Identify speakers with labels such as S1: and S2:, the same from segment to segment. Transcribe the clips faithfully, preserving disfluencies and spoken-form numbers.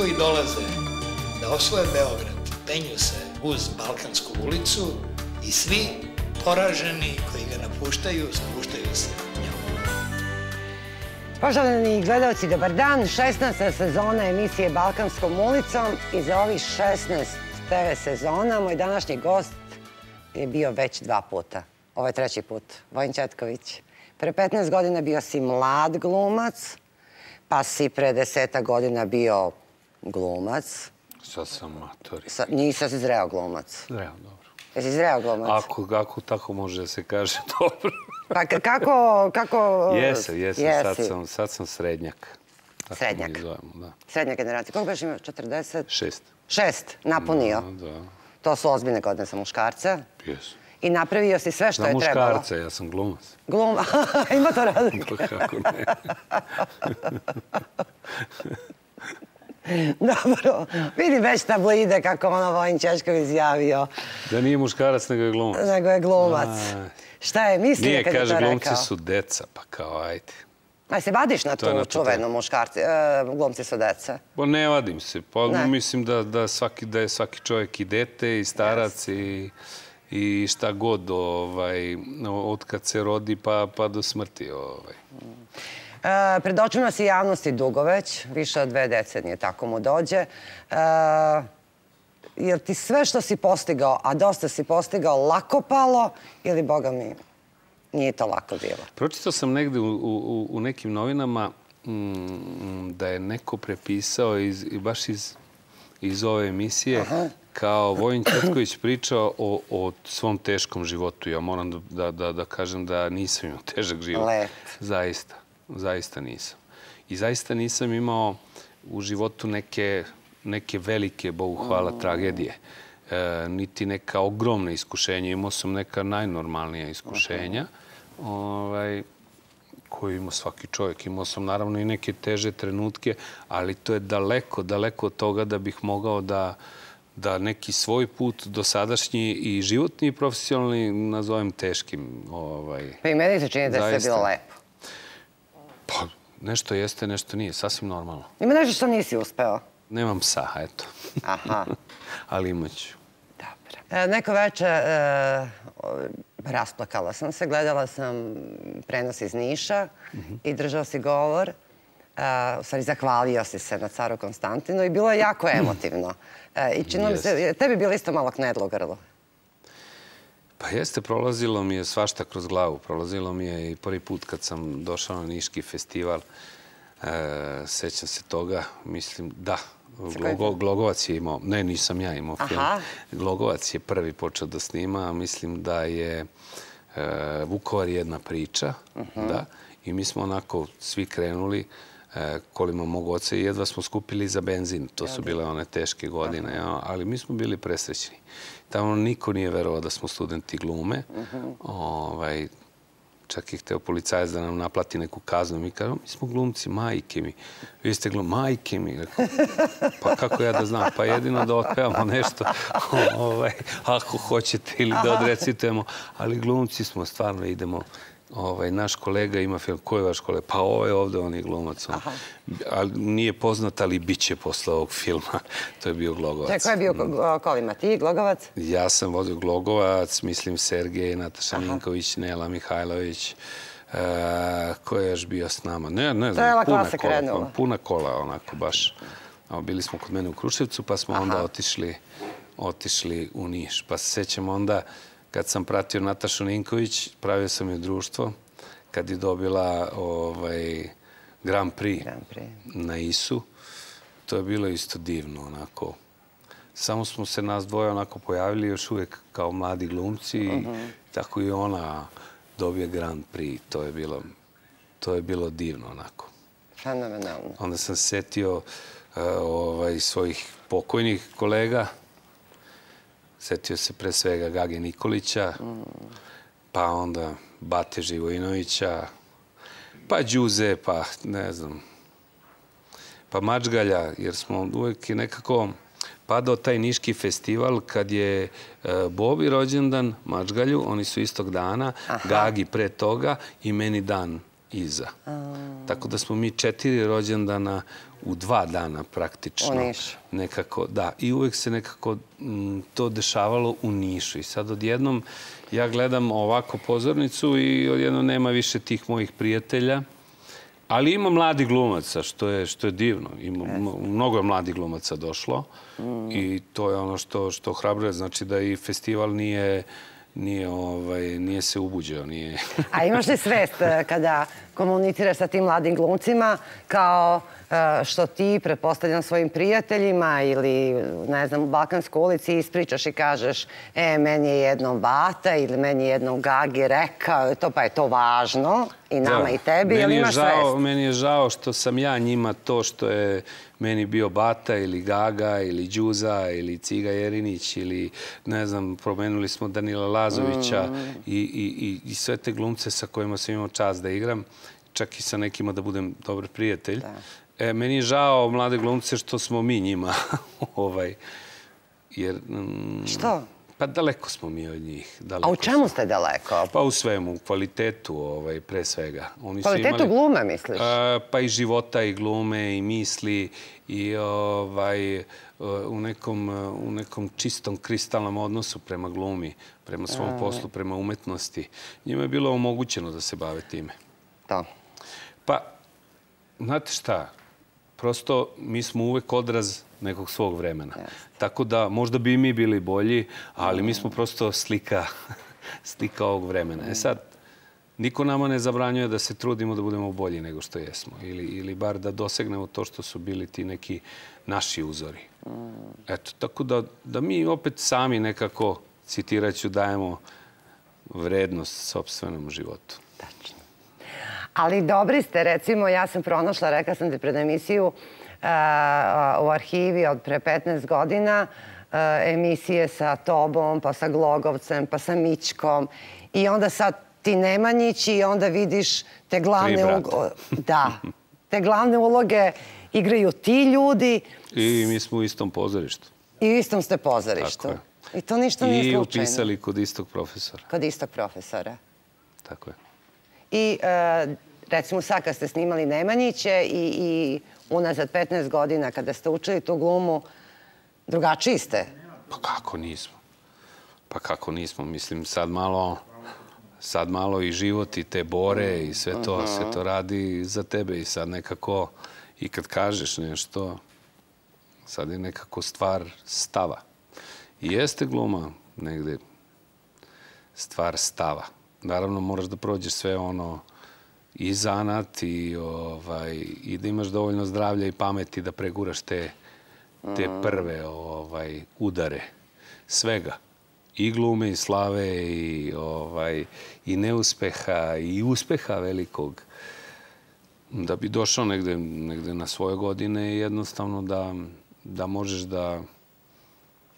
S1: koji dolaze da osvoje Beograd penju se uz Balkansku ulicu i svi poraženi koji ga napuštaju spuštaju se njom.
S2: Poštovani gledalci, dobar dan. šesnaesta sezona emisije Balkanskom ulicom i za ovih šesnaest te ve sezona moj današnji gost je bio već dva puta. Ovo je treći put. Vojin Ćetković. Pre petnaest godina bio si mlad glumac, pa si pre deseta godina bio glumac.
S3: Sad sam matori.
S2: Nisi si zreo glumac.
S3: Zreo, dobro.
S2: Jesi zreo glumac?
S3: Ako tako može da se kaže, dobro.
S2: Pa kako... kako...
S3: Jesam, jesam. Sad sam srednjak.
S2: Srednjak. Srednja generacija. Koliko biš imao? četrdeset?
S3: Šest.
S2: Šest? Napunio?
S3: Da.
S2: To su ozbiljne godine za muškarca?
S3: Jesu.
S2: I napravio si sve što je trebalo?
S3: Za muškarca, ja sam glumac.
S2: Glumac? Ima to razlike?
S3: Kako ne.
S2: Dobro. Vidi već tabloide kako ono Vojin Ćetković izjavio.
S3: Da nije muškarac, nego je glumac.
S2: Nego je glumac. Šta je mislio kad je to rekao?
S3: Nije, kaže, glumci su deca, pa kao, ajde.
S2: A se vadiš na tu čuvenu muškarci, glumci su deca?
S3: Pa ne vadim se. Pa mislim da je svaki čovjek i dete, i starac, i šta god od kad se rodi pa do smrti.
S2: Pred očima si javnosti dugo već, više od dve decenije, tako mu dođe. Je li ti sve što si postigao, a dosta si postigao, lako palo ili, boga mi, nije to lako bilo?
S3: Pročitao sam negde u nekim novinama da je neko prepisao baš iz ove emisije kao Vojin Ćetković pričao o svom teškom životu. Ja moram da kažem da nisam imao težak život.
S2: Lep.
S3: Zaista. Zaista nisam. I zaista nisam imao u životu neke velike, Bogu hvala, tragedije. Niti neka ogromna iskušenja. Imao sam neka najnormalnija iskušenja koje ima svaki čovjek. Imao sam naravno i neke teže trenutke, ali to je daleko, daleko od toga da bih mogao da neki svoj put dosadašnji i životni i profesionalni nazovem teškim.
S2: Pa i meni se čini da je sve bilo lepo.
S3: Pa, nešto jeste, nešto nije. Sasvim normalno.
S2: Ima nešto što nisi uspeo?
S3: Nemam psa, eto.
S2: Aha.
S3: Ali imat ću.
S2: Dobro. Neko večer rasplakala sam se, gledala sam prenos iz Niša i držao si govor. U stvari, zahvalio si se na caru Konstantinu i bilo je jako emotivno. I činilo mi se, tebi bilo isto malo knedlo u grlu.
S3: Pa jeste, prolazilo mi je svašta kroz glavu. Prolazilo mi je i prvi put kad sam došao na Niški festival. Sećam se toga. Mislim, da. Glogovac je imao, ne, nisam ja imao film. Glogovac je prvi počeo da snima. Mislim da je Vukovar jedna priča. I mi smo onako svi krenuli kolima mog oca i jedva smo skupili za benzin. To su bile one teške godine, ali mi smo bili presrećni. Tamo niko nije verovao da smo studenti glume. Čak je hteo policajac da nam naplati neku kaznu. Mi kažemo, mi smo glumci, majke mi. Vi ste glumci, majke mi. Pa kako ja da znam? Pa jedino da otpevamo nešto, ako hoćete, ili da odrecitujemo. Ali glumci smo, stvarno idemo. Naš kolega ima film. Ko je vaš kolega? Pa ovo je ovde, on je glumac. Nije poznat, ali bit će posle ovog filma. To je bio Glogovac.
S2: Ko je bio kolima? Ti, Glogovac?
S3: Ja sam vodio Glogovac, mislim Sergej, Nataša Ninković, Nela Mihajlović. Ko je još bio s nama? Ne, ne znam. Puna kola, onako baš. Bili smo kod mene u Kruševcu, pa smo onda otišli u Niš. Pa se sećam onda, kad sam pratio Natašu Ninković, pravio sam joj društvo, kad je dobila Grand Prix na Isu. To je bilo isto divno, onako. Samo smo se nas dvoje onako pojavili još uvijek kao mladi glumci i tako i ona dobije Grand Prix. To je bilo divno, onako.
S2: Fenomenalno.
S3: Onda sam se setio svojih pokojnih kolega. Setio se pre svega Gage Nikolića, pa onda Bate Živojinovića, pa Đuze, pa ne znam, pa Mačgalja, jer smo uvijek nekako padao taj Niški festival kad je Bobi rođendan, Mačgalju, oni su istog dana, Gagi pre toga i meni dan iza. Tako da smo mi četiri rođendana u dva dana praktično.
S2: U Nišu.
S3: Nekako, da. I uvek se nekako to dešavalo u Nišu. I sad odjednom ja gledam ovako pozornicu i odjednom nema više tih mojih prijatelja. Ali ima mladi glumaca, što je, što je divno. Ima, mnogo je mladi glumaca došlo i to je ono što, što hrabruje. Znači da i festival nije, nije, ovaj, nije se ubuđeo. Nije...
S2: A imaš li svest kada komuniciraš sa tim mladim glumcima kao što ti, pretpostavljam svojim prijateljima ili, ne znam, u Balkanskoj ulici ispričaš i kažeš e, meni je jednom Bata ili meni je jednom Gagi rekao, to pa je to važno i nama i tebi, ili imaš svest?
S3: Meni je žao što sam ja njima to što je meni bio Bata ili Gaga ili Đuza ili Ciga Jerinić ili, ne znam, promenuli smo Danila Lazovića i sve te glumce sa kojima sam imao čast da igram, čak i sa nekima da budem dobar prijatelj. E, meni je žao mlade glumce što smo mi njima, ovaj, jer...
S2: Što?
S3: Pa daleko smo mi od njih.
S2: A u čemu ste daleko?
S3: Pa u svemu, u kvalitetu, ovaj, pre svega.
S2: Kvalitetu glume, misliš?
S3: Pa i života, i glume, i misli, i ovaj, u nekom, u nekom čistom, kristalnom odnosu prema glumi, prema svom poslu, prema umetnosti. Njima je bilo omogućeno da se bave time.
S2: Da.
S3: Pa, znate šta? Prosto, mi smo uvek odraz nekog svog vremena. Tako da, možda bi i mi bili bolji, ali mi smo prosto slika, slika ovog vremena. E sad, niko nama ne zabranjuje da se trudimo da budemo bolji nego što jesmo. Ili, ili bar da dosegnemo to što su bili ti neki naši uzori. Eto, tako da, da mi opet sami nekako, citiraću, dajemo vrednost sopstvenom životu.
S2: Tačno. Ali dobri ste, recimo, ja sam pronašla, rekla sam ti pred emisiju, u arhivi od pre petnaest godina, emisije sa tobom, pa sa Glogovcem, pa sa Mićkom. I onda sad ti Nemanjić i onda vidiš te glavne uloge. Da, te glavne uloge igraju ti ljudi.
S3: I mi smo u istom pozorištu.
S2: I u istom ste pozorištu.
S3: Tako je.
S2: I to ništa nije slučajno.
S3: I upisali kod istog profesora.
S2: Kod istog profesora.
S3: Tako je.
S2: I recimo sad kad ste snimali Nemanjiće i unazad petnaest godina kada ste učili tu glumu, drugačiji ste?
S3: Pa kako nismo? Pa kako nismo? Mislim, sad malo, sad malo i život i te bore i sve to, sve to radi za tebe i sad nekako, i kad kažeš nešto, sad je nekako stvar stava. I jeste gluma negde stvar stava. Naravno, moraš da prođeš sve ono i zanat i, ovaj, i da imaš dovoljno zdravlja i pameti da preguraš te, te prve ovaj, udare svega. I glume, i slave, i, ovaj, i neuspeha, i uspeha velikog. Da bi došao negde, negde na svoje godine jednostavno da, da možeš da,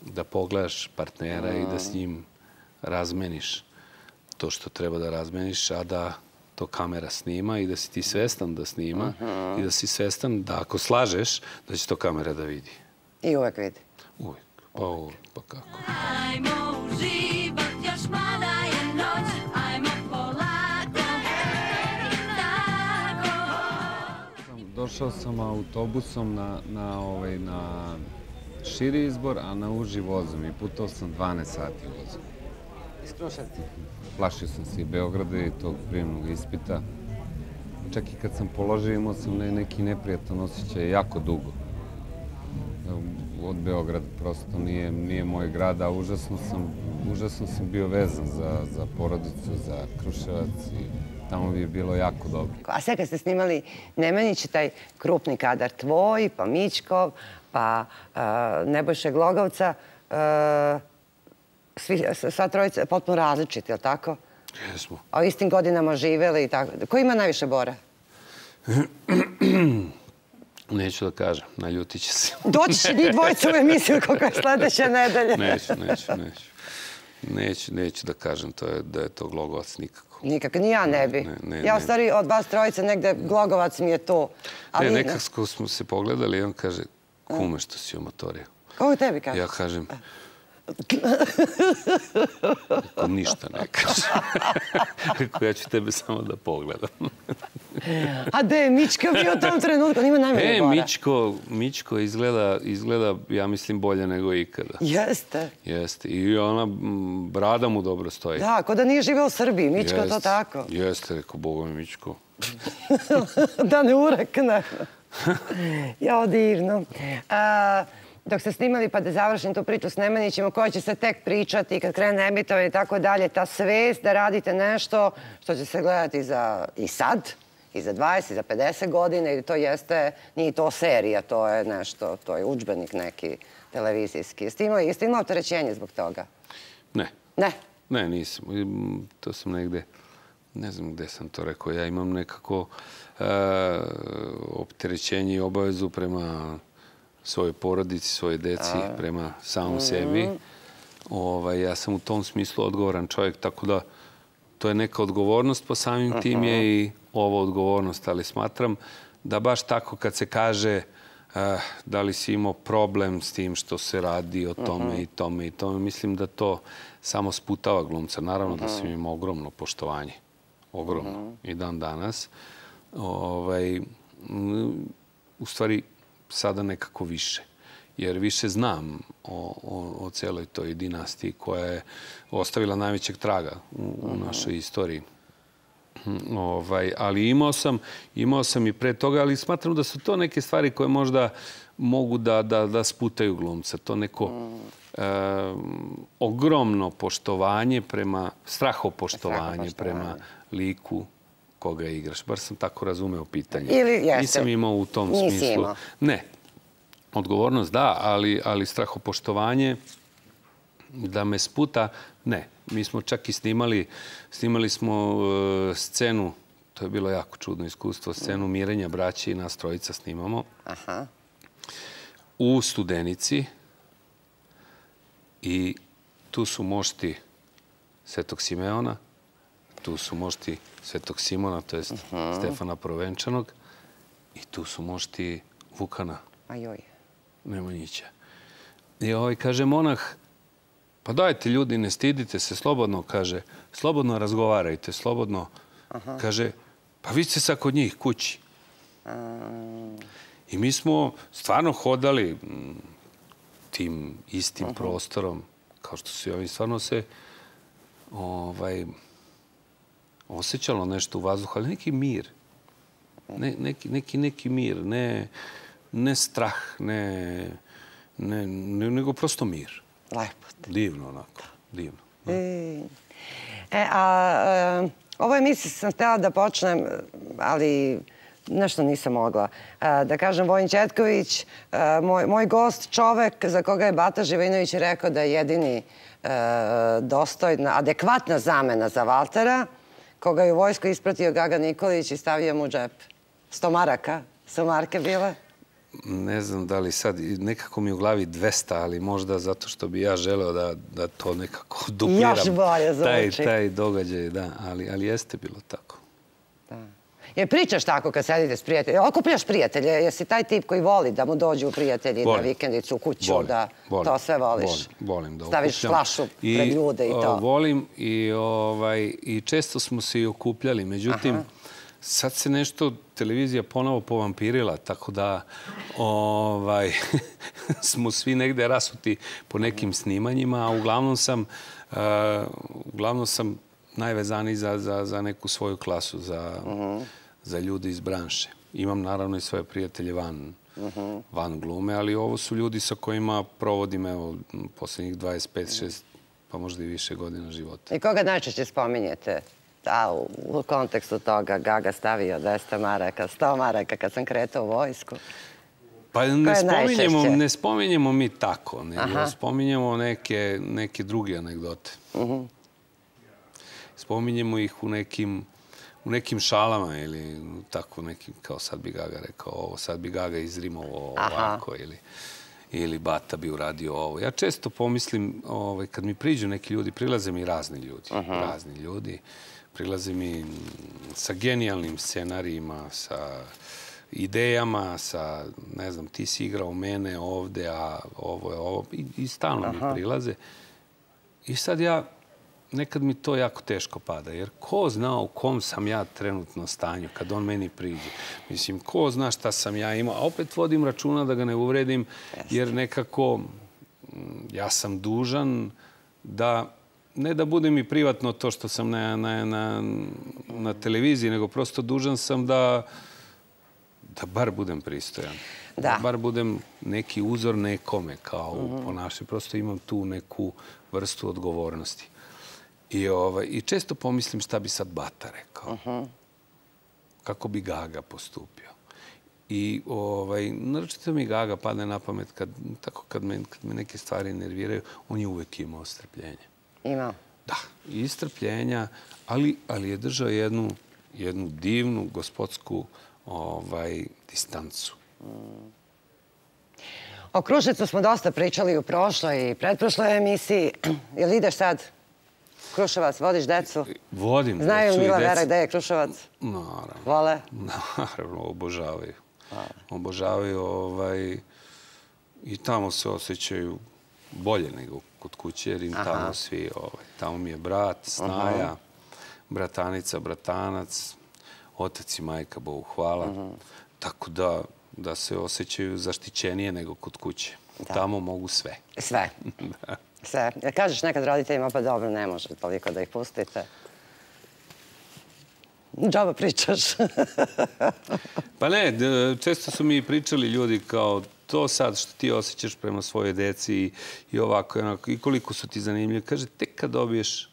S3: da pogledaš partnera i da s njim razmeniš to što treba da razmeniš, a da to kamera snima i da si ti svestan da snima i da si svestan da ako slažeš, da će to kamera da vidi.
S2: I uvek vidi?
S3: Uvek. Pa uvek, pa kako.
S4: Ajmo uživat, još mala je noć, ajmo polako, i tako.
S5: Došao sam autobusom na, na, ovaj, na širi izbor, a na uži vozom i putao sam dvanaest sati vozom.
S2: Iz Kruševca?
S5: Plašio sam se i Beograda i tog prijemnog ispita. Čak i kad sam položio imao sam neki neprijatan osjećaj jako dugo. Od Beograda prosto nije, nije moj grad, a užasno sam, užasno sam bio vezan za, za porodicu, za Kruševac i tamo bi je bilo jako dobro.
S2: A sve kad ste snimali Nemanjić, taj krupni kadar tvoj, pa Mićkov, pa uh, Nebojše Glogovca, uh, Svi, sva trojica potpuno različiti, je li tako?
S3: Jesmo.
S2: A u istim godinama živeli i tako. Ko ima najviše bora?
S3: Neću da kažem, naljutit će se.
S2: Doći će njih dvojica u emisiju kako je sledeće nedelje.
S3: Neću, neću, neću. Neću, neću da kažem to je, da je to Glogovac nikako.
S2: Nikako, ni ja ne bi.
S3: Ne, ne,
S2: ja u
S3: ne.
S2: stvari od vas trojice negde Glogovac mi je tu. Ali...
S3: Ne, nekako smo se pogledali i on kaže, kume što si u motoriju.
S2: Kako tebi kaže?
S3: Ja kažem, Rekao, ništa ne kažem. Rekao, ja ću tebe samo da pogledam.
S2: A gde je Mička bio u tom trenutku? On ima najmanje
S3: E,
S2: bora.
S3: Mičko, Mičko izgleda, izgleda, ja mislim, bolje nego ikada.
S2: Jeste.
S3: Jeste. I ona m, brada mu dobro stoji.
S2: Da, ko da nije živeo u Srbiji. Mička to
S3: Jeste,
S2: tako.
S3: Jeste, rekao, Boga mi Mičko.
S2: Da ne urekne. Jao, divno. A, dok ste snimali, pa da završim tu priču s Nemanjićem, o kojoj će se tek pričati kad krene emitovanje i tako dalje, ta svest da radite nešto što će se gledati za i sad, i za dvadeset, i za pedeset godina, ili to jeste, nije to serija, to je nešto, to je udžbenik neki televizijski. Jeste imali, jeste imali opterećenje zbog toga?
S3: Ne.
S2: Ne?
S3: Ne, nisam. To sam negde, ne znam gde sam to rekao, ja imam nekako e, opterećenje i obavezu prema svojoj porodici, svojoj deci, prema samom sebi. Ovaj, ja sam u tom smislu odgovoran čovjek, tako da to je neka odgovornost, po samim tim je i ova odgovornost, ali smatram da baš tako kad se kaže uh, da li si imao problem s tim što se radi o tome i tome i tome, mislim da to samo sputava glumca. Naravno da sam imao ogromno poštovanje. Ogromno. I dan danas. Ovaj, u stvari, sada nekako više. Jer više znam o, o, o celoj toj dinastiji koja je ostavila najvećeg traga u, u našoj istoriji. Ovaj, ali imao sam, imao sam i pre toga, ali smatram da su to neke stvari koje možda mogu da, da, da sputaju glumca. To neko e, ogromno poštovanje prema, strahopoštovanje prema liku koga igraš. Bar sam tako razumeo pitanje.
S2: Ili jeste.
S3: Nisam imao u tom
S2: Nisi
S3: smislu.
S2: imao.
S3: Ne. Odgovornost da, ali, ali strahopoštovanje da me sputa, ne. Mi smo čak i snimali, snimali smo uh, scenu, to je bilo jako čudno iskustvo, scenu mirenja braće i nas trojica snimamo.
S2: Aha.
S3: U Studenici i tu su mošti Svetog Simeona, tu su mošti Svetog Simona, to jest uh-huh. Stefana Provenčanog i tu su mošti Vukana
S2: Ajoj.
S3: Nemanjića. I ovaj kaže monah, pa dajte ljudi, ne stidite se, slobodno, kaže, slobodno razgovarajte, slobodno. Aha. Kaže, pa vi ste sad kod njih kući. A... I mi smo stvarno hodali tim istim uh-huh. prostorom, kao što su i ovi, stvarno se ovaj, osjećalo nešto u vazduhu, ali neki mir. Ne, neki, neki, neki mir, ne, ne strah, ne, ne, ne, nego prosto mir.
S2: Lepo.
S3: Divno onako, divno.
S2: E, e, a, e, ovo emisiju sam htjela da počnem, ali nešto nisam mogla. E, da kažem, Vojin Ćetković, e, moj, moj gost, čovek za koga je Bata Živinović rekao da je jedini e, dostojna, adekvatna zamena za Valtera, koga je u vojsku ispratio Gaga Nikolić i stavio mu u džep. Sto maraka su marke bile?
S3: Ne znam da li sad, nekako mi u glavi dvesta, ali možda zato što bi ja želeo da, da to nekako dupliram.
S2: Još bolje zvuči.
S3: Taj, taj događaj, da, ali, ali jeste bilo tako.
S2: Da. Jer pričaš tako kad sedite s prijateljima, okupljaš prijatelje, jesi taj tip koji voli da mu dođu prijatelji volim. Na vikendicu, u kuću,
S3: volim.
S2: da
S3: volim.
S2: To sve voliš?
S3: Volim, volim da
S2: staviš
S3: okupljam.
S2: flašu
S3: I,
S2: pred ljude i to?
S3: Volim i, ovaj, i često smo se i okupljali, međutim, aha. Sad se nešto televizija ponovo povampirila, tako da ovaj, smo svi negde rasuti po nekim snimanjima, a uglavnom sam, uh, uglavnom sam najvezaniji za, za, za neku svoju klasu, za, uh-huh. za ljude iz branše. Imam naravno i svoje prijatelje van, uh-huh. van glume, ali ovo su ljudi sa kojima provodim evo, posljednjih dvadeset pet šest, pa možda i više godina života.
S2: I koga najčešće spominjete? Da, u, u kontekstu toga Gaga stavio dvesta maraka, sto maraka kad sam kretao u vojsku.
S3: Pa ne spominjemo, ne spominjemo mi tako, nego aha. spominjemo neke, neke druge anegdote. Uh-huh. Spominjemo ih u nekim, u nekim šalama ili tako nekim, kao sad bi Gaga rekao ovo, sad bi Gaga izrimovo ovako ili, ili Bata bi uradio ovo. Ja često pomislim, ovaj, kad mi priđu neki ljudi, prilaze mi razni ljudi, uh-huh. razni ljudi. Prilaze mi sa genijalnim scenarijima, sa idejama, sa, ne znam, ti si igrao mene ovde, a ovo je ovo. I, i stalno aha. mi prilaze. I sad ja nekad mi to jako teško pada, jer ko zna u kom sam ja trenutno stanju kad on meni priđe. Mislim, ko zna šta sam ja imao, a opet vodim računa da ga ne uvredim, jer nekako ja sam dužan da, ne da budem i privatno to što sam na, na, na, na televiziji, nego prosto dužan sam da, da bar budem pristojan. Da. da bar budem neki uzor nekome, kao u ponašanju. Prosto imam tu neku vrstu odgovornosti. I, ovaj, I često pomislim šta bi sad Bata rekao. Uh-huh. Kako bi Gaga postupio. I ovaj, naročito mi Gaga padne na pamet kad, tako kad me, kad me neke stvari nerviraju, on je uvek imao strpljenje.
S2: Imao?
S3: Da, i strpljenja, ali, ali je držao jednu, jednu divnu gospodsku ovaj, distancu. Mm.
S2: O Kruševcu smo dosta pričali u prošloj i pretprošloj emisiji. Jel ideš sad Kruševac, vodiš decu?
S3: Vodim decu.
S2: Znaju Mila Vera gde je Kruševac?
S3: Naravno.
S2: Vole?
S3: Naravno, obožavaju. Obožavaju ovaj, i tamo se osjećaju bolje nego kod kuće, jer im tamo svi, ovaj, tamo mi je brat, snaja, Aha. bratanica, bratanac, otac i majka, Bogu hvala. Aha. Tako da, da se osjećaju zaštićenije nego kod kuće. Da. Tamo mogu sve.
S2: Sve? Da. Sve. Ja kažeš nekad roditeljima, pa dobro, ne može toliko da ih pustite. Džaba pričaš.
S3: Pa ne, često su mi pričali ljudi kao to sad što ti osjećaš prema svojoj deci i, i ovako i onako, i koliko su ti zanimljivi. Kaže, tek kad dobiješ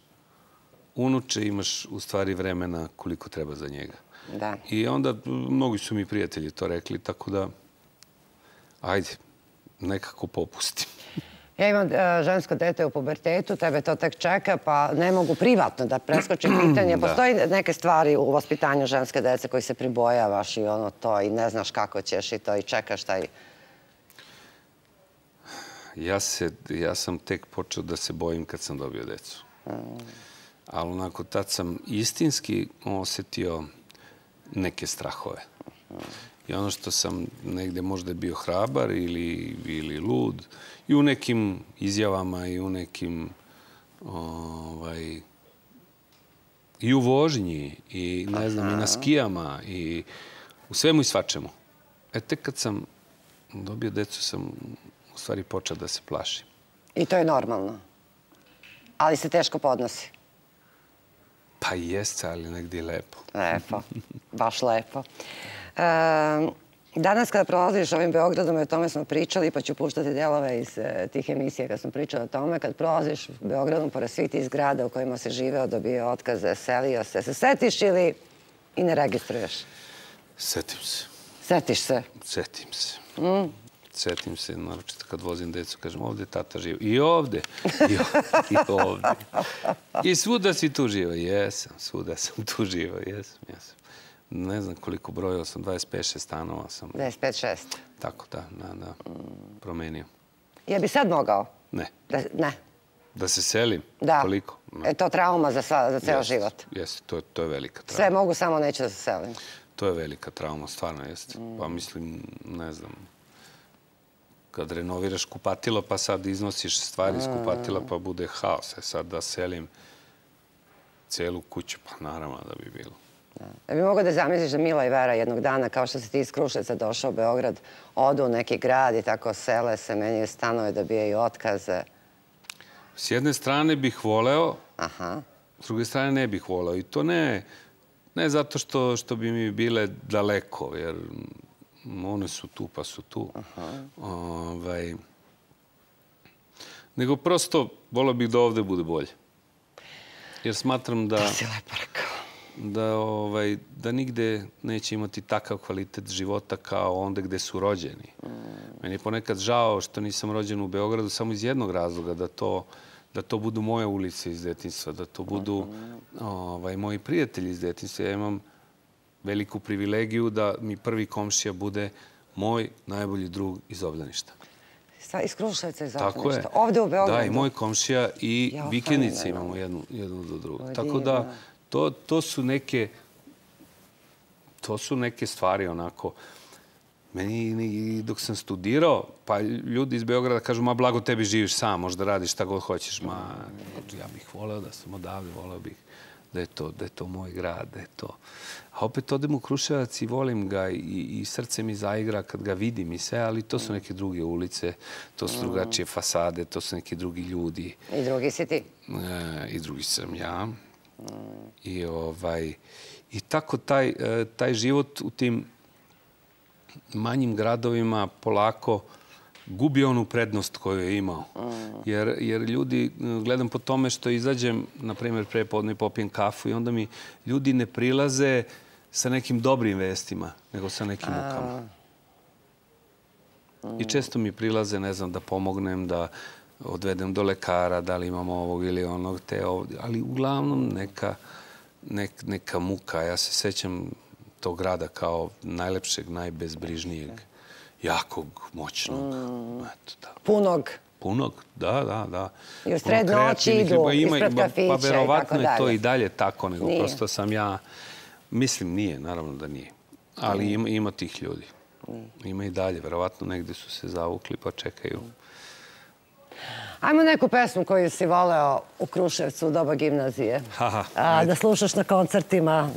S3: unuče imaš u stvari vremena koliko treba za njega.
S2: Da.
S3: I onda mnogi su mi prijatelji to rekli, tako da ajde, nekako popustim.
S2: Ja imam uh, žensko dete u pubertetu, tebe to tek čeka, pa ne mogu privatno da preskočim pitanje. Postoji neke stvari u vaspitanju ženske dece koji se pribojavaš i ono to i ne znaš kako ćeš i to i čekaš taj...
S3: Ja, se, ja sam tek počeo da se bojim kad sam dobio decu. Mm. Ali onako tad sam istinski osjetio neke strahove. Mm. I ono što sam negde možda bio hrabar ili, ili lud, i u nekim izjavama i u nekim ovaj, i u vožnji i ne znam, i na skijama i u svemu i svačemu. E tek kad sam dobio decu sam u stvari počeo da se plašim.
S2: I to je normalno? Ali se teško podnosi?
S3: Pa jeste, ali negdje je lepo.
S2: Lepo, baš lepo. E, danas kada prolaziš ovim Beogradom, i o tome smo pričali, pa ću puštati delove iz e, tih emisija kad smo pričali o tome, kad prolaziš Beogradom pored svih tih zgrada u kojima se živeo, dobio otkaze, selio se, se setiš ili i ne registruješ?
S3: Setim se.
S2: Setiš se?
S3: Setim se. Mm. Setim se, naročito kad vozim decu, kažem, ovdje tata živa. I ovdje. I ovdje. I ovdje. I svuda si tu živa. Jesam, svuda sam tu živa. Jesam, jesam. Ne znam koliko brojao sam, dvadeset pet šest stanova sam.
S2: dvadeset pet šest.
S3: Tako, da, da, da. Promenio.
S2: Je bi sad mogao?
S3: Ne.
S2: Da, ne.
S3: Da se selim?
S2: Da.
S3: Koliko?
S2: No. Je to trauma za, sva, za ceo
S3: jest,
S2: život?
S3: Jeste, to, to je velika trauma.
S2: Sve mogu, samo neću da se selim.
S3: To je velika trauma, stvarno jeste. Mm. Pa mislim, ne znam, kad renoviraš kupatilo, pa sad iznosiš stvari iz kupatila, pa bude haos. E sad da selim celu kuću, pa naravno da bi bilo.
S2: Da bi mogao da zamisliš da Mila i Vera jednog dana, kao što si ti iz Kruševca došao u Beograd, odu u neki grad i tako sele se, menjaju stanove, dobijaju otkaze?
S3: S jedne strane bih voleo,
S2: Aha.
S3: S druge strane ne bih voleo. I to ne, ne zato što, što bi mi bile daleko, jer one su tu pa su tu. Aha. Ovaj, nego prosto voleo bih da ovde bude bolje. Jer smatram da...
S2: To si lepo rekao.
S3: Da, ovaj, da nigde neće imati takav kvalitet života kao onda gde su rođeni. Mm. Meni je ponekad žao što nisam rođen u Beogradu samo iz jednog razloga, da to, da to budu moje ulice iz detinjstva, da to budu ovaj, moji prijatelji iz detinjstva. Ja imam veliku privilegiju da mi prvi komšija bude moj najbolji drug iz obdaništa.
S2: Iz Kruševca iz obdaništa? Ovde u Beogradu?
S3: Da, i moj komšija i ja, vikendice imamo jednu, jednu do drugu. O, tako da, to, to su neke to su neke stvari onako. Meni dok sam studirao, pa ljudi iz Beograda kažu, ma blago tebi živiš sam, možda radiš šta god hoćeš. Ma, ja bih voleo da sam odavde, voleo bih da je to, da je to moj grad, da je to. A opet odem u Kruševac i volim ga i, i srce mi zaigra kad ga vidim i sve, ali to su neke druge ulice, to su drugačije fasade, to su neki drugi ljudi.
S2: I drugi si ti?
S3: E, I drugi sam ja. I, ovaj, i tako taj, taj život u tim manjim gradovima polako gubi onu prednost koju je imao. Jer, jer ljudi, gledam po tome što izađem, na primjer, prepodne popijem kafu i onda mi ljudi ne prilaze sa nekim dobrim vestima, nego sa nekim mukama. I često mi prilaze, ne znam, da pomognem, da odvedem do lekara, da li imamo ovog ili onog, te ovdje. Ali uglavnom neka, nek, neka muka. Ja se sećam tog grada kao najlepšeg, najbezbrižnijeg, jakog, moćnog. Eto, da.
S2: Punog.
S3: Punog, da, da, da.
S2: I u sred noći idu ispred kafića i tako dalje.
S3: Pa verovatno je to i dalje tako, nego prosto sam ja... Mislim, nije, naravno da nije. Ali ima, ima tih ljudi. Ima i dalje, verovatno negdje su se zavukli pa čekaju.
S2: Ajmo neku pesmu koju si voleo u Kruševcu u doba gimnazije.
S3: Aha,
S2: A, da slušaš na koncertima.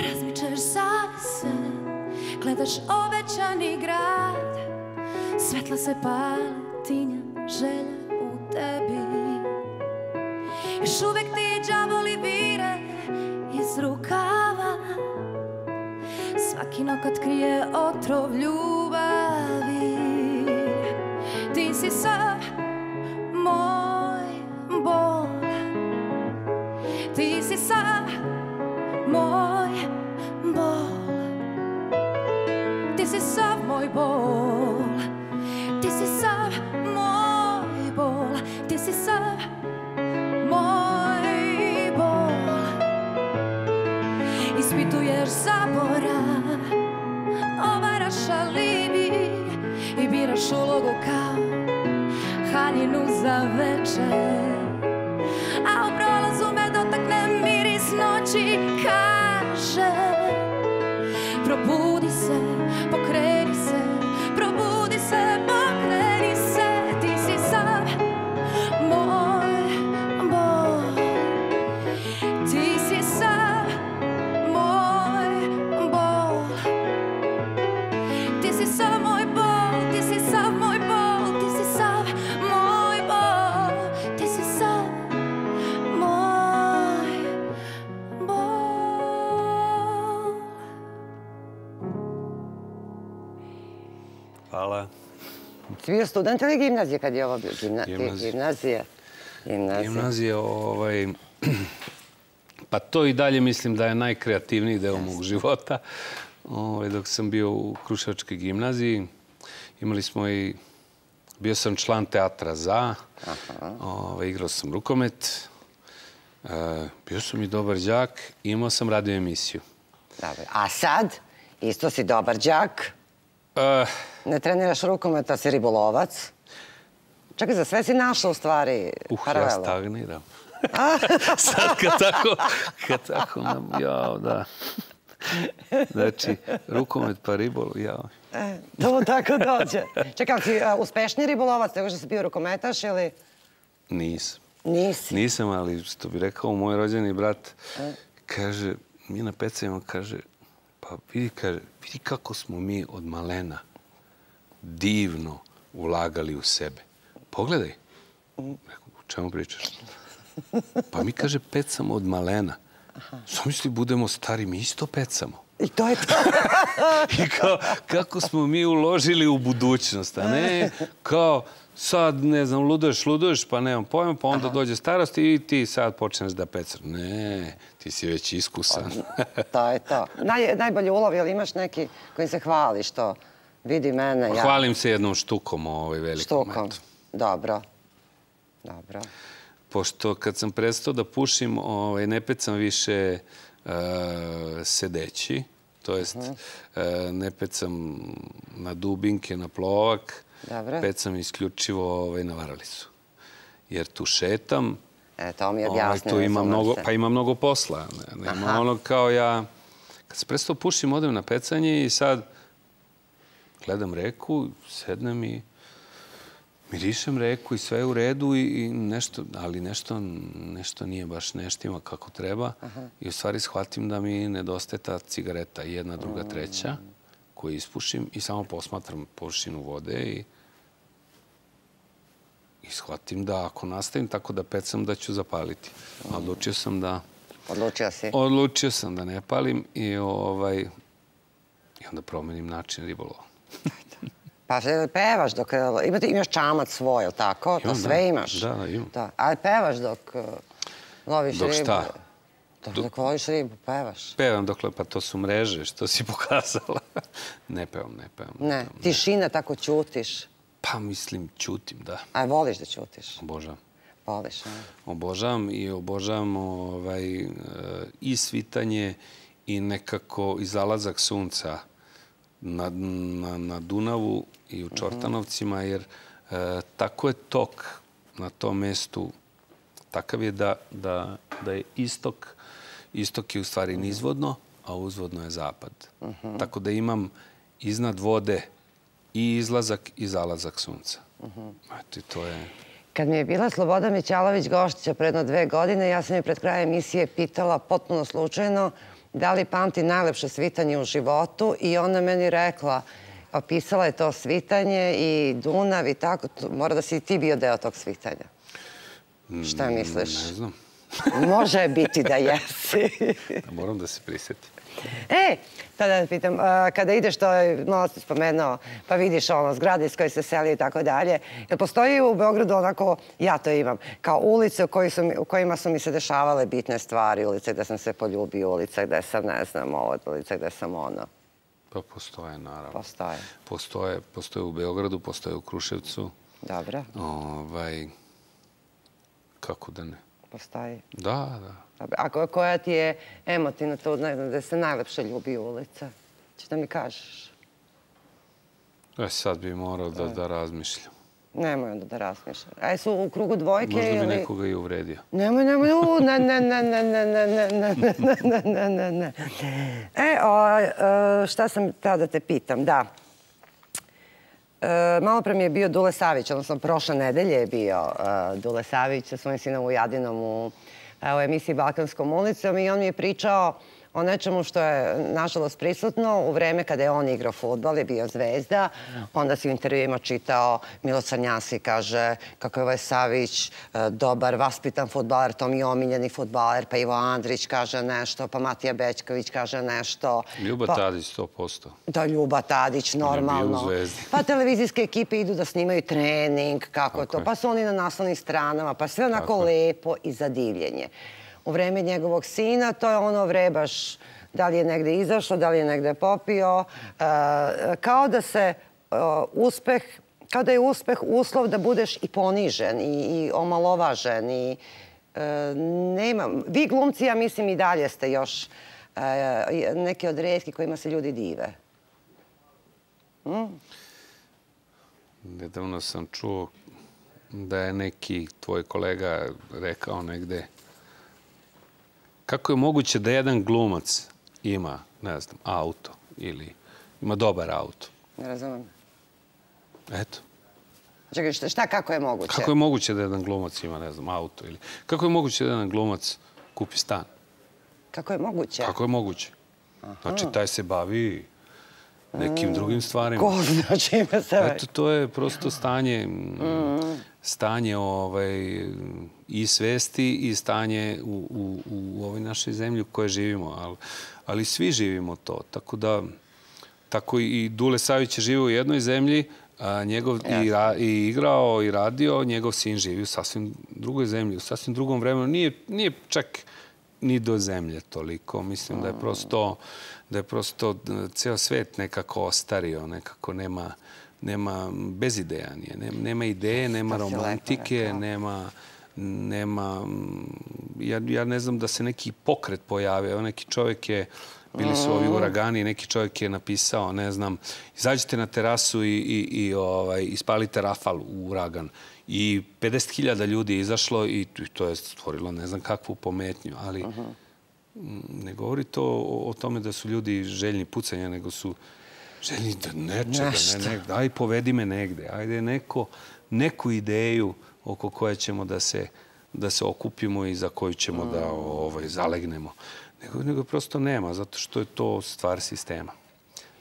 S4: Razmičeš zavise, gledaš obećani grad, svetla se pale, tinja želja u tebi. Još uvek ti đavoli vire iz rukava, svaki nokat krije otrov ljubavi. Ti si sav moj bol, ti si sav moj bol, ti si sav moj bol, ti si sav moj bol, ti si sav moj bol. Ispituješ zaborav, ovaraš alibi i biraš ulogu kao haljinu za večer. A u prolazu me dotakne miris noći, kaže probudi se, pokreni se, probudi se, pokreni se. Ti si sav moj bol, ti si sav moj bol, ti si sav moj bol, ti si sav moj bol, ti si sav moj bol, ti si sav moj bol.
S3: Hvala.
S2: Si bio student ili gimnazije kad je ovo bio? Gimna...
S3: Gimnazije.
S2: Gimnazije. Gimnazije.
S3: Gimnazije, ovaj... Pa to i dalje mislim da je najkreativniji deo mog života. Ovaj, dok sam bio u Kruševačkoj gimnaziji, imali smo i... Bio sam član teatra za, ovaj, igrao sam rukomet, e, bio sam i dobar đak, imao sam radio emisiju.
S2: Dobro. A sad, isto si dobar đak,
S3: E,
S2: ne treniraš rukomet, a si ribolovac. Čekaj, za sve si našao u stvari
S3: uh, ja
S2: paralelu.
S3: stagniram. Sad kad tako, kad tako, nam, jao, da. Znači, rukomet pa ribolov, jao.
S2: E, to tako dođe. Čekaj, si uh, uspešni ribolovac, nego što si bio rukometaš ili...
S3: Nisam.
S2: Nisi.
S3: Nisam, ali što bi rekao moj rođeni brat, kaže, mi na pecajima, kaže, pa vidi, kaže, vidi kako smo mi od malena divno ulagali u sebe. Pogledaj. Rekao, o čemu pričaš? Pa mi, kaže, pecamo od malena. Zamisli, budemo stari, mi isto pecamo.
S2: I to je to.
S3: I kao, kako smo mi uložili u budućnost, a ne kao sad, ne znam, luduješ, luduješ, pa nemam pojma, pa onda dođe starost i ti sad počneš da pecaš. Ne, ti si već iskusan.
S2: To je to. Naj, najbolji ulov, jel imaš neki kojim se hvali što vidi mene? Ja...
S3: Hvalim se jednom štukom, ovaj velikom.
S2: Štukom. Dobro. Dobro.
S3: Pošto kad sam prestao da pušim, ovaj, ne pecam više uh, sedeći. to jest ne pecam na dubinke, na plovak, pecam isključivo na varalicu. Jer tu šetam,
S2: E, to mi je objasnio.
S3: Tu ima mnogo, pa ima mnogo posla. Nema ono kao ja, kad se prestao pušim, odem na pecanje i sad gledam reku, sednem i mirišem reku i sve je u redu i nešto, ali nešto, nešto nije baš neštima kako treba. I u stvari shvatim da mi nedostaje ta cigareta, jedna, druga, treća, koju ispušim i samo posmatram površinu vode i I shvatim da ako nastavim tako da pecam, da ću zapaliti. Odlučio sam da...
S2: Odlučio si?
S3: Odlučio sam da ne palim i onda promenim način ribolova.
S2: Pa pevaš dok... Imaš čamac svoj, ili tako? To sve imaš?
S3: Da, da, imam.
S2: Ali pevaš dok loviš ribu?
S3: Dok šta?
S2: Dok loviš ribu, pevaš?
S3: Pevam dokle, pa to su mreže, što si pokazala. Ne pevam, ne pevam.
S2: Ne, tišina, tako ćutiš?
S3: Pa mislim, ćutim, da.
S2: A voliš da ćutiš?
S3: Obožavam.
S2: Voliš, a?
S3: Obožavam i obožavam i svitanje i nekako i zalazak sunca na Dunavu i u Čortanovcima, jer tako je tok na tom mestu, takav je da je istok, istok je u stvari nizvodno, a uzvodno je zapad. Tako da imam iznad vode i izlazak i zalazak sunca. Eto, to je...
S2: Kad mi je bila Sloboda Mićalović gošća predno dve godine, ja sam je pred krajem emisije pitala potpuno slučajno da li pamti najlepše svitanje u životu i ona meni rekla, opisala je to svitanje i Dunav i tako, mora da si i ti bio deo tog svitanja. Šta misliš?
S3: Ne znam.
S2: Može biti da jesi.
S3: Moram da se prisjetim.
S2: E, tada da pitam, kada ideš, to je malo si spomenuo, pa vidiš ono, zgrade iz koje se seli i tako dalje, jer postoji u Beogradu onako, ja to imam, kao ulice u kojima su mi se dešavale bitne stvari, ulice gde sam se poljubio, ulice gde sam, ne znam, ovo, ulice gde sam ono.
S3: Pa postoje, naravno.
S2: Postoje.
S3: Postoje, postoje u Beogradu, postoje u Kruševcu.
S2: Dobro.
S3: Kako da ne?
S2: Postoji.
S3: Da, da.
S2: A koja ti je emotivna to, ne znam, da se najlepše ljubi ulica? Če da mi kažeš?
S3: E, sad bi morao da razmišljam.
S2: Nemoj onda da razmišljam. A su u krugu dvojke ili...
S3: Možda bi nekoga i uvredio.
S2: Nemoj, nemoj, u, ne, ne, ne, ne, ne, ne, ne, ne, ne, ne, ne, ne. E, šta sam tada da te pitam, da. Malo pre mi je bio Dule Savić, odnosno prošle nedelje je bio Dule Savić sa svojim sinom Vujadinom u emisiji Balkanskom ulicom i on mi je pričao o nečemu što je, nažalost, prisutno u vreme kada je on igrao fudbal, je bio zvezda. Onda si u intervjuima čitao, Milo Crnjanski kaže kako je ovaj Savić dobar, vaspitan fudbaler, to mi je omiljeni fudbaler, pa Ivo Andrić kaže nešto, pa Matija Bećković kaže nešto.
S3: Ljuba Tadić, sto posto.
S2: Da, Ljuba Tadić, normalno. Pa televizijske ekipe idu da snimaju trening, kako to, pa su oni na naslovnim stranama, pa sve onako lepo i za divljenje. U vreme njegovog sina, to je ono vrebaš, da li je negde izašao, da li je negde popio, kao da se uspeh, kao da je uspeh uslov da budeš i ponižen i omalovažen i nema, vi glumci, ja mislim i dalje ste još neki od retki kojima se ljudi dive.
S3: Nedavno sam čuo da je neki tvoj kolega rekao negde kako je moguće da jedan glumac ima, ne znam, auto ili ima dobar auto?
S2: Ne razumem.
S3: Eto.
S2: Čekaj, šta kako je moguće?
S3: Kako je moguće da jedan glumac ima, ne znam, auto ili... Kako je moguće da jedan glumac kupi stan?
S2: Kako je moguće?
S3: Kako je moguće? Znači, taj se bavi nekim drugim stvarima.
S2: Ko zna čime se već?
S3: Eto, to je prosto stanje... stanje i svesti i stanje u ovoj našoj zemlji u kojoj živimo. Ali svi živimo to. Tako da, tako i Dule Savić je živio u jednoj zemlji, i igrao i radio, njegov sin živi u sasvim drugoj zemlji, u sasvim drugom vremenu. Nije čak ni do zemlje toliko. Mislim da je prosto, da je prosto ceo svet nekako ostario, nekako nema... Nema, bez ideja nije. Nema ideje, nema romantike, nema, nema, ja ne znam da se neki pokret pojavio. Neki čovjek je Bili su ovi uragani, neki čovjek je napisao, ne znam, izađite na terasu i, i, i ovaj, ispalite rafal u uragan. I pedeset hiljada ljudi je izašlo i to je stvorilo ne znam kakvu pometnju, ali ne govori to o, o tome da su ljudi željni pucanja, nego su željni da nečega, ne, ne, aj povedi me negde, ajde neko, neku ideju oko koje ćemo da se, da se okupimo i za koju ćemo da ovaj, zalegnemo. Nego, nego prosto nema, zato što je to stvar sistema.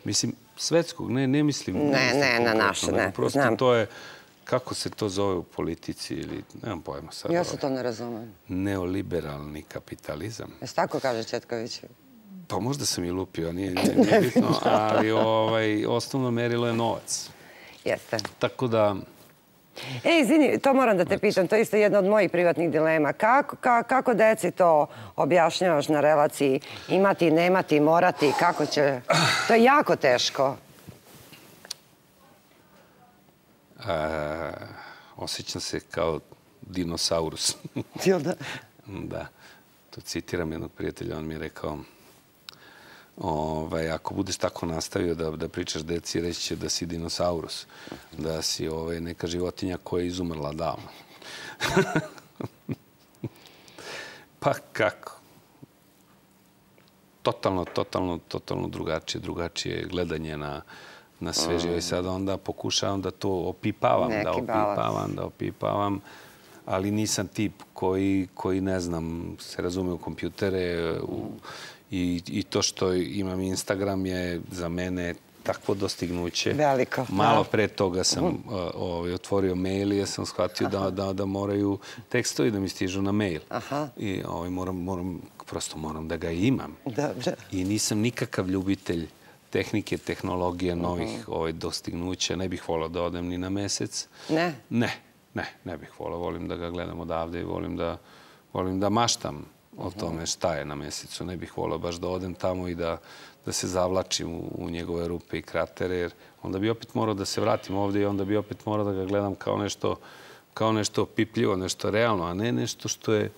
S3: Mislim, svetskog, ne, ne mislim...
S2: Ne, ne, na naše, ne.
S3: Prosto znam. To je, kako se to zove u politici ili, nemam pojma sad.
S2: Ja se to ne razumem.
S3: Neoliberalni kapitalizam.
S2: Jesi tako kaže Četković?
S3: Pa možda sam i lupio, nije, nije, nije bitno, ali ovaj, osnovno merilo je novac.
S2: Jeste.
S3: Tako da...
S2: E, izvini, to moram da te pitam, to je isto jedna od mojih privatnih dilema. Kako, ka, kako deci to objašnjavaš na relaciji imati, nemati, morati, kako će... To je jako teško.
S3: A, osjećam se kao dinosaurus.
S2: Jel da?
S3: Da. To citiram jednog prijatelja, on mi je rekao ovaj, ako budeš tako nastavio da, da pričaš deci, reći će da si dinosaurus, da si ovaj, neka životinja koja je izumrla davno. Pa kako? Totalno, totalno, totalno drugačije, drugačije gledanje na, na sve živo. I sad onda pokušavam da to opipavam,
S2: neki
S3: da opipavam, balans. da opipavam, ali nisam tip koji, koji ne znam, se razume u kompjutere, u, I, I to što imam Instagram je za mene takvo dostignuće.
S2: Veliko.
S3: Malo pre toga sam uh, ovaj, otvorio mail i ja sam shvatio da, da, da moraju tekstovi da mi stižu na mail.
S2: Aha.
S3: I ovaj, moram, moram, prosto moram da ga imam.
S2: Dobro.
S3: I nisam nikakav ljubitelj tehnike, tehnologije, novih ovaj, dostignuća. Ne bih volao da odem ni na mesec.
S2: Ne? Ne,
S3: ne, ne bih volao. Volim da ga gledam odavde i volim da, volim da maštam o tome šta je na mesecu. Ne bih volao baš da odem tamo i da, da se zavlačim u, u njegove rupe i kratere, jer onda bi opet morao da se vratim ovdje i onda bi opet morao da ga gledam kao nešto, kao nešto pipljivo, nešto realno, a ne nešto što je,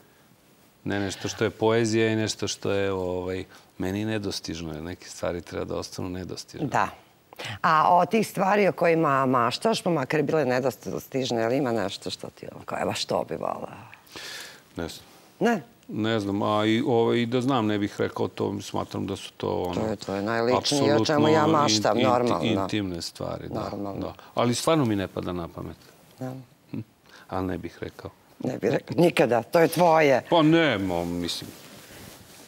S3: ne nešto što je poezija i nešto što je ovaj, meni nedostižno, jer neke stvari treba da ostanu nedostižne.
S2: Da. A od tih stvari o kojima maštaš, pa makar bile nedostižne, ali ima nešto što ti ono, kao, evo što bi volao?
S3: Ne znam.
S2: Ne?
S3: Ne znam, a i, ovaj, da znam, ne bih rekao to, smatram da su to ono...
S2: To je, to je najličnije o čemu ja maštam,
S3: in, in,
S2: normalno.
S3: Intimne stvari, da,
S2: normalno.
S3: da. Ali stvarno mi ne pada na pamet.
S2: Da.
S3: Hm? Ali ne bih rekao.
S2: Ne bih rekao, nikada, to je tvoje.
S3: Pa ne, mo, mislim...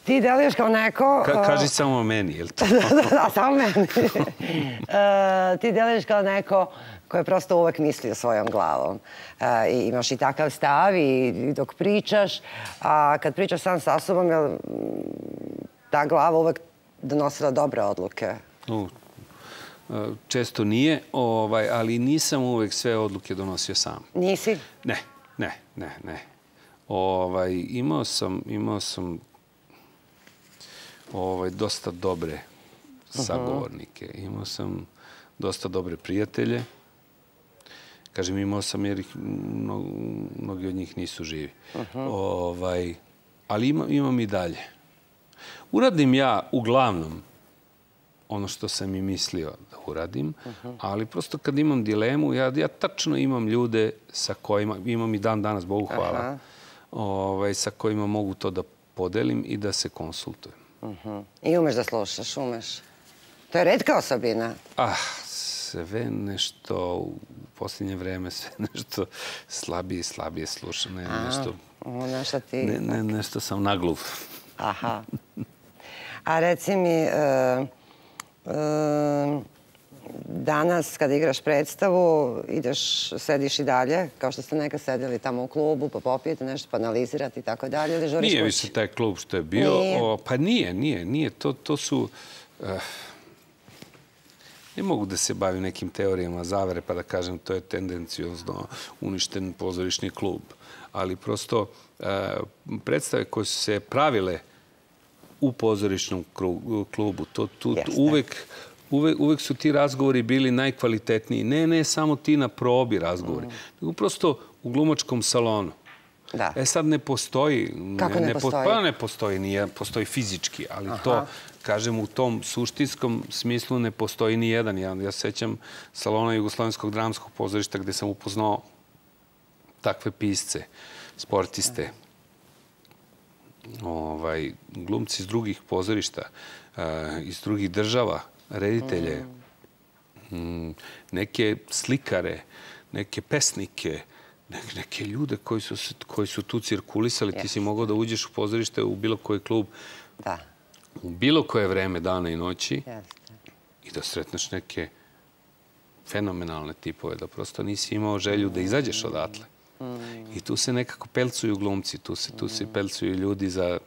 S2: Ti deluješ kao neko...
S3: Ka, kaži samo meni, je li to?
S2: da, da, samo meni. uh, ti deluješ kao neko koji je prosto uvek mislio svojom glavom. Uh, i imaš i takav stav i, i dok pričaš, a kad pričaš sam sa sobom, je ta glava uvek donosila dobre odluke?
S3: Uh, često nije, ovaj, ali nisam uvek sve odluke donosio sam.
S2: Nisi?
S3: Ne, ne, ne, ne. Ovaj, imao sam, imao sam ovaj, dosta dobre sagovornike. Imao sam dosta dobre prijatelje. Kažem, imao sam jer ih, mno, mnogi od njih nisu živi. Ovaj, ali ima, imam i dalje. Uradim ja uglavnom ono što sam i mislio da uradim, ali prosto kad imam dilemu, ja, ja tačno imam ljude sa kojima, imam i dan danas, Bogu hvala, ovaj, sa kojima mogu to da podelim i da se konsultujem.
S2: Uh-huh. I umeš da slušaš, umeš. To je retka osobina.
S3: Ah, sve nešto u posljednje vreme, sve nešto slabije i slabije slušam. Ne,
S2: A,
S3: nešto,
S2: nešto ti...
S3: Ne, ne, nešto sam nagluv.
S2: Aha. A reci mi, uh, uh, danas kad igraš predstavu, ideš, sediš i dalje, kao što ste nekad sedeli tamo u klubu, pa popijete nešto, pa analizirate i tako dalje, ili žuriš kući?
S3: Nije više taj klub što je bio.
S2: Nije.
S3: O, pa nije, nije, nije. To, to su... Uh, ne mogu da se bavim nekim teorijama zavere pa da kažem to je tendencijozno uništen pozorišni klub. Ali prosto uh, predstave koje su se pravile u pozorišnom klubu, to, tu, tu, uvek... Uvek, uvek su ti razgovori bili najkvalitetniji. Ne, ne samo ti na probi razgovori, nego prosto u glumačkom salonu. E sad ne postoji.
S2: Kako ne postoji?
S3: Pa ne postoji, nije, postoji fizički, ali to, kažem, u tom suštinskom smislu ne postoji ni jedan. Ja sećam salona Jugoslovenskog dramskog pozorišta gde sam upoznao takve pisce, sportiste, glumci iz drugih pozorišta, iz drugih država, reditelje, neke slikare, neke pesnike, neke ljude koji su tu cirkulisali. Ti si mogao da uđeš u pozorište u bilo koji klub, u bilo koje vreme dana i noći i da sretneš neke fenomenalne tipove, da prosto nisi imao želju da izađeš odatle. I tu se nekako pelcuju glumci, tu se pelcuju ljudi za...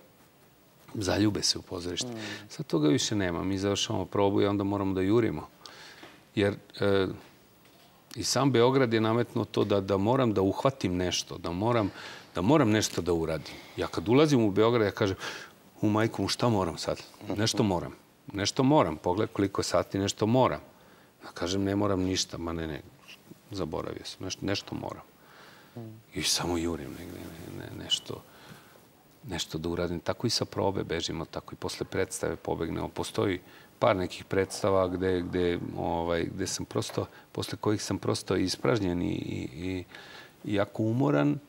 S3: zaljube se u pozorište. Sad toga više nema. Mi završavamo probu i onda moramo da jurimo. Jer i sam Beograd je nametno to da moram da uhvatim nešto, da moram nešto da uradim. Ja kad ulazim u Beograd, ja kažem, u majku, šta moram sad? Nešto moram. Nešto moram. Pogled koliko sati, nešto moram. Ja kažem, ne moram ništa. Ma ne, ne, zaboravio sam. Nešto moram. I samo jurim nešto. nešto da uradim. Tako i sa probe bežimo, tako i posle predstave pobegnemo. Postoji par nekih predstava gde sam prosto, posle kojih sam prosto ispražnjen i jako umoran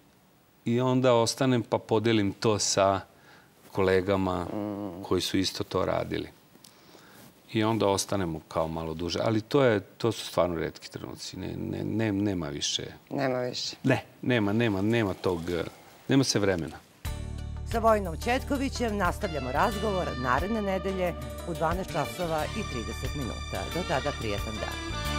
S3: i onda ostanem pa podelim to sa kolegama koji su isto to radili. I onda ostanemo kao malo duže. Ali to su stvarno retki trenuci. Nema više.
S2: Nema više.
S3: Ne, nema, nema, nema tog, nema se vremena.
S6: Sa Vojinom Četkovićem nastavljamo razgovor naredne nedelje u dvanaest časova i trideset minuta. Do tada, prijetan dan.